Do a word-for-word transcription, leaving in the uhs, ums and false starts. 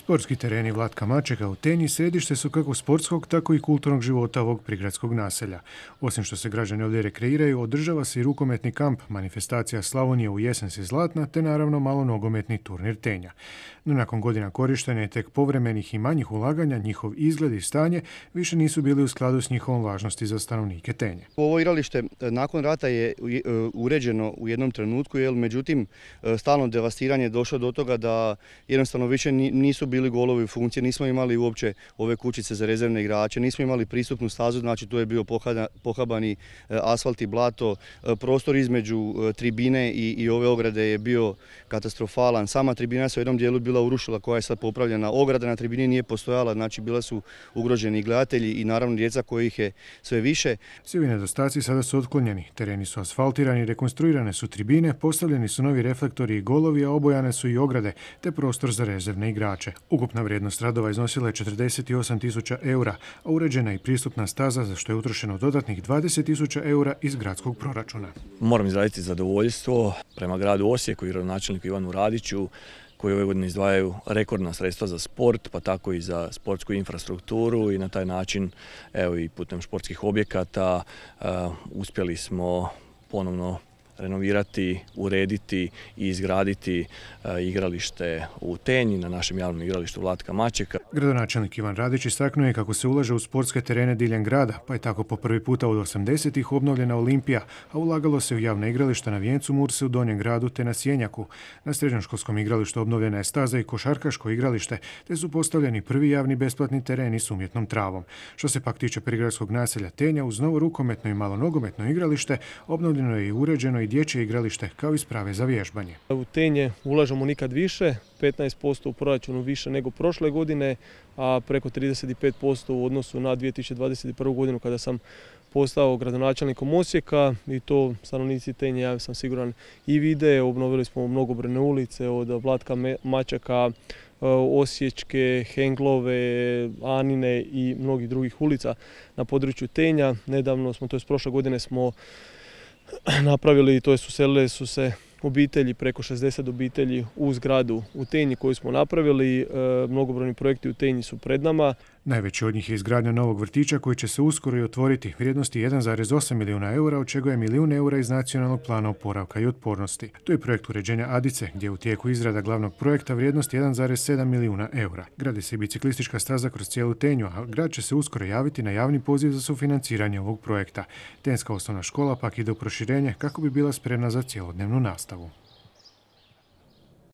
Sportski tereni Vlatka Mačeka u Tenji središte su kako sportskog, tako i kulturnog života ovog prigradskog naselja. Osim što se građani ovdje rekreiraju, održava se i rukometni kamp, manifestacija Slavonije u jesen si zlatna, te naravno malo nogometni turnir Tenja. No nakon godina korištenja i tek povremenih i manjih ulaganja, njihov izgled i stanje više nisu bili u skladu s njihovom važnosti za stanovnike Tenje. Ovo igralište nakon rata je uređeno u jednom trenutku, jer međutim stalno devastiranje je došlo do toga da jednostavno više nisu bili golovi u funkciji, nismo imali uopće ove kućice za rezervne igrače, nismo imali pristupnu stazu, znači tu je bio pohabani asfalt i blato, prostor između tribine i, i ove ograde je bio katastrofalan. Sama tribina se u jednom dijelu bila urušila, koja je sad popravljena. Ograda na tribini nije postojala, znači bila su ugroženi gledatelji i naravno djeca kojih je sve više. Svi ovi nedostaci sada su otklonjeni. Tereni su asfaltirani, rekonstruirane su tribine, postavljeni su novi reflektori i golovi, a obojane su i ograde, te prostor za rezervne igrače. Ukupna vrijednost radova iznosila je četrdeset osam tisuća eura, a uređena i pristupna staza, za što je utrošeno dodatnih dvadeset tisuća eura iz gradskog proračuna. Moram izraziti zadovoljstvo prema gradu Osijeku i gradonačelniku Ivanu Radiću, koji ove godine izdvajaju rekordna sredstva za sport, pa tako i za sportsku infrastrukturu i na taj način, evo i putem športskih objekata, uh, uspjeli smo ponovno renovirati, urediti i izgraditi uh, igralište u Tenji, na našem javnom igralištu Vlatka Mačeka. Gradonačelnik Ivan Radić istaknuo je kako se ulaže u sportske terene diljem grada, pa je tako po prvi puta od osamdesetih obnovljena Olimpija, a ulagalo se u javna igrališta na Vijencu Murse u Donjem gradu te na Sjenjaku. Na srednjoškolskom igralištu obnovljena je staza i košarkaško igralište, te su postavljeni prvi javni besplatni tereni s umjetnom travom. Što se pak tiče prigradskog naselja Tenja, uz novo rukometno i malo nogometno igralište, obnovljeno je i uređeno i dječje igralište kao i sprave za vježbanje. U Tenje ulažemo nikad više, petnaest posto u proračunu više nego prošle godine, a preko trideset pet posto u odnosu na dvije tisuće dvadeset prvu godinu kada sam postao gradonačelnikom Osijeka, i to stanovnici Tenje, ja sam siguran, i vide. Obnovili smo mnogobrojne ulice od Vlatka Mačeka, Osječke, Henglove, Anine i mnogih drugih ulica na području Tenja. Nedavno smo, to je prošle godine smo napravili, to je uselile su se obitelji, preko šezdeset obitelji u zgradu u Tenji koju smo napravili. E, mnogobrojni projekti u Tenji su pred nama. Najveći od njih je izgradnja novog vrtića koji će se uskoro i otvoriti, vrijednosti jedan zarez osam milijuna eura, od čega je milijun eura iz nacionalnog plana oporavka i otpornosti. To je projekt uređenja Adice, gdje je u tijeku izrada glavnog projekta vrijednosti jedan zarez sedam milijuna eura. Gradi se i biciklistička staza kroz cijelu Tenju, a grad će se uskoro javiti na javni poziv za sufinanciranje ovog projekta. Tenjska osnovna škola pak ide u proširenje kako bi bila spremna za cjelodnevnu nastavu.